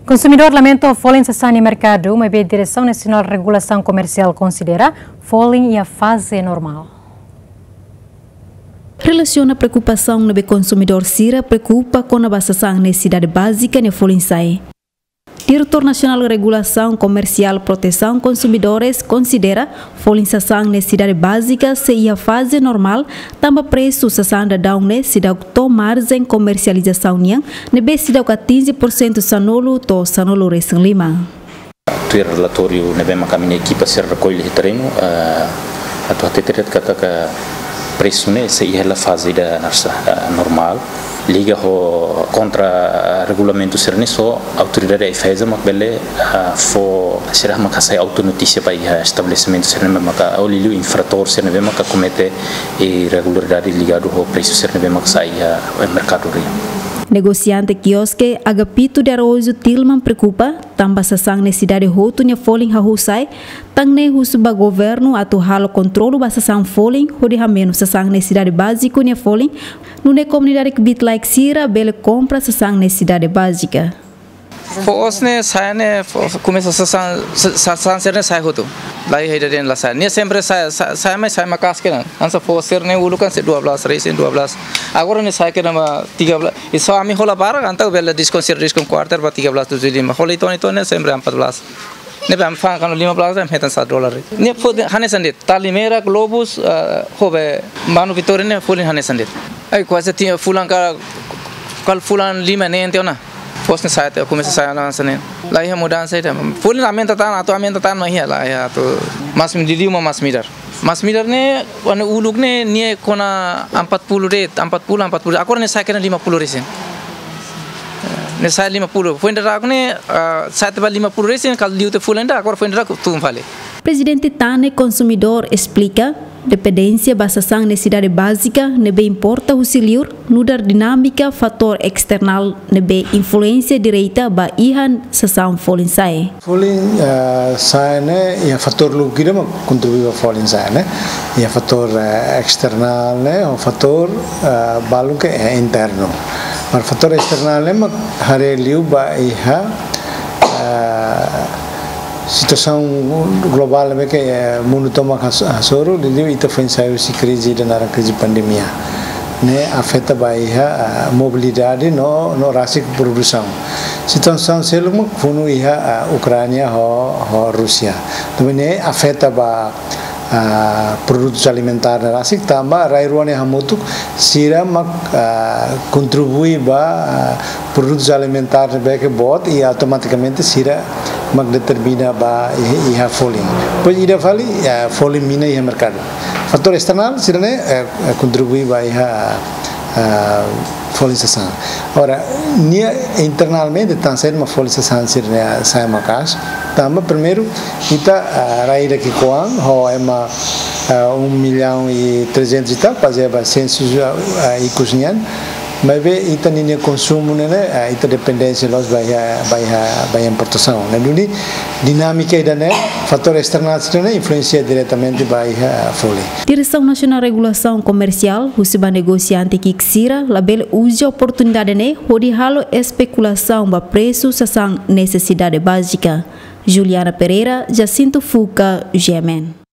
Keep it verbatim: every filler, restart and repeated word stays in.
Konsumidór lamenta ho folin sasán iha merkadu, maibé Diresaun Nasionál Regulasaun Komersiál konsidera folin iha faze normál. Relasiona preokupasaun ne'ebé konsumidór sira preokupa kona-ba sasán nesesidade bázika nia folin sa'e. Diretór Nasionál Regulasaun Komersiál Protesaun Konsumidores konsidera folin sasán nesesidade bázika sei iha faze normál, tanba presu sasán daudaun ne'e seidauk to'o marjen komersializasaun nian, ne'ebé seidauk atinje porsentu sanulu to'o sanulu-resin-lima. Tuir relatóriu ne'ebé maka ami-nia ekipa sira rekolle iha terrenu, eh, atu hatete de'it katak presu ne'e sei iha hela faze ida ne'ebé, eh, normál. Liga ho kontra, eh, regulamentu sira-ne'e só autoridade AIFAESA mak bele, eh, fó, sira mak hasai autonotísia ba iha estabelesimentu sira ne'ebé maka, ou liuliu infratór sira ne'ebé maka komete irregularidade ligadu ho presu sira ne'ebé maka sai iha, eh, merkadorian. Negosiante kioske Agapito de Araújo Tilman preokupa, tanba sasán nesesidade hotu nia folin hahú sa'e, tan ne'e husu ba governu atu halo kontrolu ba sasán folin, hodi hamenus sasán nesesidade báziku nia folin, nune'e komunidade kbiit-laek sira bele kompra sasán nesesidade bázika. Foos ne'e sa'e ne'e, fo-, fo-, komesa sasán, sa-, sasán sira-ne'e sa'e hotu. Laiha ida de'it la sa'e. Ne'e sempre sa'e, sa-, sa'e mai sa'e maka'as kedan. Hanesan foos sira-ne'e uluk kan sei dua belas, resin dua belas. Agora ne'e sa'e kedan ba tiga belas. I só ami hola barak, entaun bele diskon sira, diskon kuarter ba tiga belas tujuh lima. Hola Itoan, Itoan ne'e sempre empat belas. Ne'ebé ami fa'an kuandu lima belas, ami hetan satu dolar. Ne'e folin hanesan de'it. Tali Merah, Globus, eh, ho be Manu Vitória ne'e folin hanesan de'it. Ai, kuaze tiha fulan ka, kala fulan lima ne'e entaun ona. Foos ne'e sa'e tiha, komesa sa'e hanesan ne'e. Laiha mudansa ida. Folin aumenta tan, atu aumenta tan mak iha, laiha atu. Mas mi liuliu mak masin-midar. Masin-midar ne'e, anu uluk ne'e, nia kona empat puluh de'it, empat puluh, empat puluh. Agora ne'e sa'e kedan lima puluh resin. Ne'e sa'e lima puluh. Foin daudauk ne'e, ah, sa'e tiha ba lima puluh resin, kala liu tiha fulan ida, agora foin daudauk tun fali. Prezidente Tane Konsumidór esplika, dependénsia ba sasán nesesidade bázika ne'ebé importa husi liur, nu'udar dinámika fatór esternál ne'ebé influénsia direta ba iha sasán folin sa'e. Folin, eh, sa'e ne'e iha fatór lubuk ida mak kontribui ba folin sa'e ne'e. Iha fatór, eh, esternál ne'e, ou fatór, eh, balu ke, eh, internu. Mas fatór esternál ne'e mak haree liu ba iha, eh, situasaun globál ne'ebé ke, eh, mundu tomak has-, hasoru, liuliu ita foin sai husi krize ida naran krize pandemia. Ne'e afeta ba iha, eh, mobilidade no, no rasik produsaun. Situasaun seluk mak funu iha, eh, Ukránia ho, ho Rúsia. Tanba ne'e afeta ba, ah, produtus alimentár ne'e rasik, tanba rai rua ne'e hamutuk sira mak, ah, kontribui ba, ah, produtus alimentár ne'ebé ke boot i automatikamente sira mak determina ba iha, iha folin. Depois ida fali, ah, folin mina iha merkadu. Fatór esternál sira-ne'e, eh, eh, kontribui ba iha, ah, folin sasán. Ora, nia internalmente, tansá mak folin sasán sira-ne'e sa'e maka'as. Tanba primeiru, ita, ah, rai ida ki'ikoan, ho ema, ah, um milhão e trezentos e tal, bazeia ba sensus, ah, ah, ikus nian. Maibé ita ninia konsumu ne'e, ah, ita dependénsia loos ba iha, ba iha, ba iha importasaun. Ne'e duni, dinámika ida-ne'e, fatór esternál sira-ne'e influénsia diretamente ba iha folin. Diresaun Nasionál Regulasaun Komersiál husu ba negosiante ki'ik sira labele uza oportunidade ne'e hodi halo espekulasaun ba presu sasán nesesidade bázika. Juliana Pereira, Jacinto Fuca, G M N.